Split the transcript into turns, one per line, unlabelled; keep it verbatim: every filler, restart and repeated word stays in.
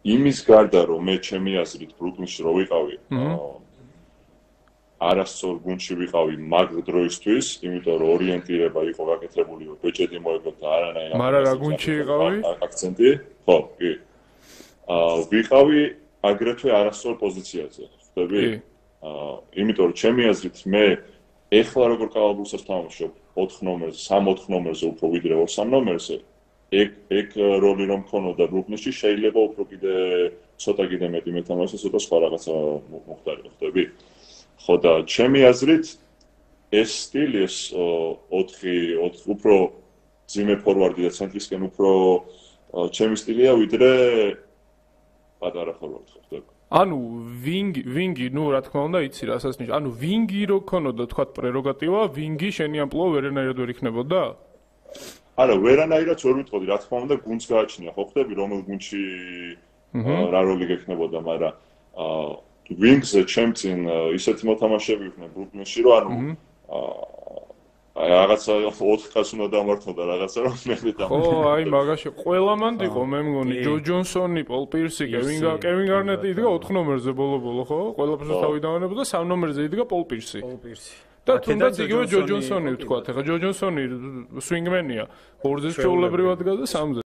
იმის გარდა რომ მე ჩემი აზრით ბრუკლინში რო ვიყავი, არასწორ გუნდში ვიყავი მაგ დროისთვის, იმიტომ რომ ორიენტირება იყო გაკეთებული, რომ ბეჭედი მოეკლოთ და არანაირი
მაგრამ რა გუნდში იყავი?
აქცენტი, ხო, კი. აა ვიყავი აგრეთვე არასწორ პოზიციაზე, ხვდები? აა იმიტომ რომ ჩემი აზრით მე ეხლა როგორ კალაბურსას თამაშობ ოთხ ნომერზე, სამ ოთხ ნომერზე უფრო ვიდრე ორ სამ ნომერზე, ეგ ეგ როლი რომ მქონოდა ბრუკლინში, შეიძლება უფრო კიდე ცოტა კიდე მეტი მეთამაშე, ცოტა სხვა რაღაცა მოხდარიყო, ხვდები? ხო და ჩემი აზრით ეს სტილი ეს ოთხი ოთხ უფრო ძიმე ფორვარდი და ცენტრისკენ უფრო ჩემი სტილია ვიდრე პატარა ფორვარდი, ხვდები?
ანუ ვინგი, ვინგი, ნუ რა თქმა უნდა, იცი რასაც ნიშნავს. ანუ ვინგი რო ქონოდა თქვა პრეროგატივა, ვინგი შენი ამპლუა ვერანაირად ვერ იქნებოდა?
არა, ვერანაირად ვერ ვიტყოდი, რა თქმა უნდა, გუნდს გააჩნია, ხო ხვდები, რომელ გუნდში რა როლი გექნებოდა, მაგრამ აა ვინგზე ჩემწინ ისეთი მოთამაშეები იყვნენ ბრუკლინში, რომ ანუ აი რაღაცა ოთხ კაცს უნდა დამართო და რაღაცა რომ მე დამართ.
ხო, აი მაგაში ყველა მანდ იყო, მე მგონი, ჯო ჯონსონი, პოლ პირსი, კევინ კევინ გარნეტი იდგა ოთხ ნომერზე ბოლო-ბოლო, ხო? ყველაფერს თავი დავანებოდა, სამ ნომერზე იდგა პოლ პირსი. პოლ პირსი. და თუნდაც იგივე ჯო ჯონსონი ვთქვათ, ეხლა ჯო ჯონსონი სვინგმენია, ორზე ჩვეულებრივად დგას და სამზე